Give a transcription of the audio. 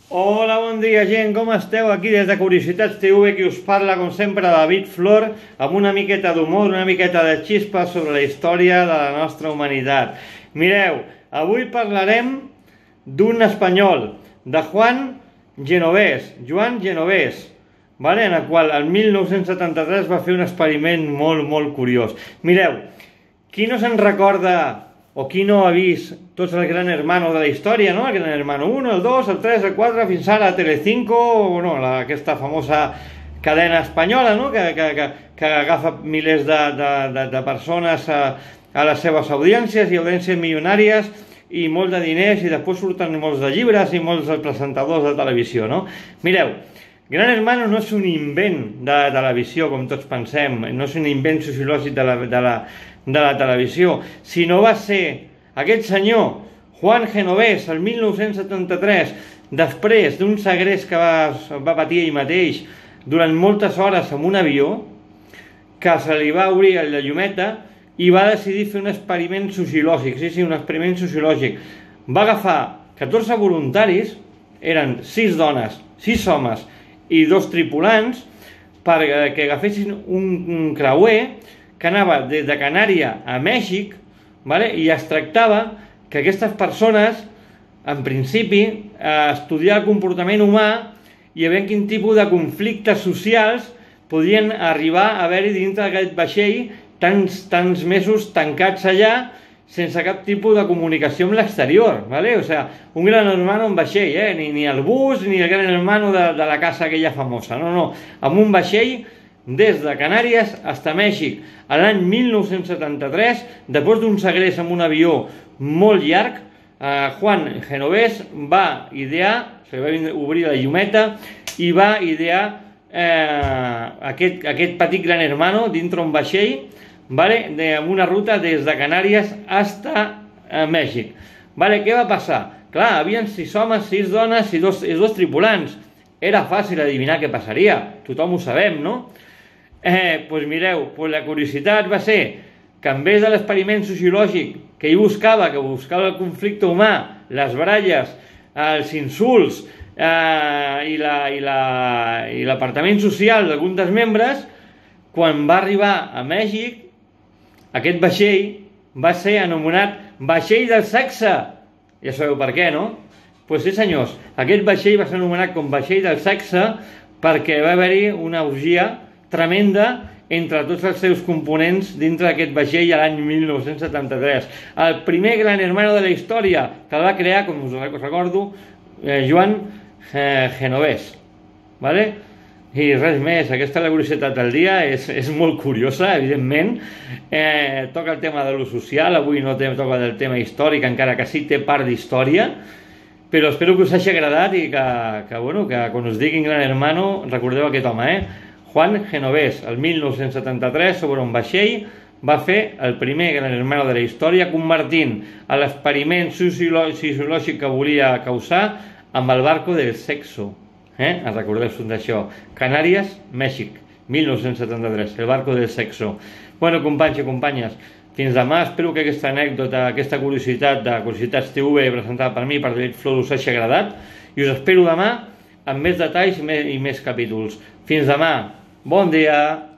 Hola, bon dia gent, com esteu? Aquí des de Curiositats TV, qui us parla com sempre David Flor, amb una miqueta d'humor, una miqueta de xispa sobre la història de la nostra humanitat. Mireu, avui parlarem d'un espanyol, de Joan Genovés, vale? En el qual el 1973 va fer un experiment molt curiós. Mireu, qui no se'n recorda o qui no ha vist tots els Gran Hermano de la història, no? El Gran Hermano 1, el 2, el 3, el 4, fins ara a Telecinco, no, aquesta famosa cadena espanyola, no? que agafa milers de persones a les seves audiències i audiències milionàries i molt de diners, i després surten molts de llibres i molts presentadors de televisió, no? Mireu, Gran Hermano no és un invent de la televisió, com tots pensem, no és un invent sociològic de la televisió, sinó va ser aquest senyor, Juan Genovés, el 1973, després d'un segrest que va patir ell mateix durant moltes hores en un avió, que se li va obrir la llumeta i va decidir fer un experiment sociològic, sí, un experiment sociològic. Va agafar 14 voluntaris, eren 6 dones, 6 homes i 2 tripulants, perquè agafessin un creuer que anava des de Canària a Mèxic, vale? I es tractava que aquestes persones, en principi, estudiar el comportament humà i a veure quin tipus de conflictes socials podien arribar a haver-hi dintre d'aquest vaixell tants mesos tancats allà sense cap tipus de comunicació amb l'exterior, vale? O sigui, un Gran Hermano en vaixell, ni el bus ni el Gran Hermano de la casa aquella famosa, no, amb un vaixell des de Canàries fins a Mèxic. A l'any 1973, després d'un segrest amb un avió molt llarg, Juan Genovés va idear, se va obrir la llumeta i va idear aquest petit Gran Hermano dintre un vaixell, vale? Amb una ruta des de Canàries fins a Mèxic. Vale? Què va passar? Clar, havien 6 homes, 6 dones i dos tripulants. Era fàcil adivinar què passaria, tothom ho sabem, no? Doncs mireu, la curiositat va ser que en vez de l'experiment sociològic que ell buscava, el conflicte humà, les baralles, els insults i l'apartament social d'alguns dels membres, quan va arribar a Mèxic, aquest vaixell va ser anomenat Vaixell del Sexe. Ja sabeu per què, no? Doncs sí, senyors, aquest vaixell va ser anomenat com Vaixell del Sexe perquè va haver-hi una orgia tremenda entre tots els seus components dintre d'aquest vaixell a l'any 1973. El primer Gran Hermano de la història que el va crear, com us recordo, Joan Genovés. Vale? I res més, aquesta és la curiositat del dia, és molt curiosa, evidentment. Toca el tema de lo social, avui no toca del tema històric, encara que sí té part d'història, però espero que us hagi agradat i que quan us diguin Gran Hermano recordeu aquest home, Juan Genovés, el 1973, sobre un vaixell, va fer el primer Gran Hermano de la història, convertint l'experiment sociològic que volia causar amb el barco del sexo. Recordeu-vos d'això. Canàries, Mèxic, 1973, el barco del sexo. Bueno, companys i companyes, fins demà. Espero que aquesta anècdota, aquesta curiositat de Curiositats TV presentada per mi, per David Flor, us hagi agradat, i us espero demà amb més detalls i més capítols. Fins demà. Bon dia!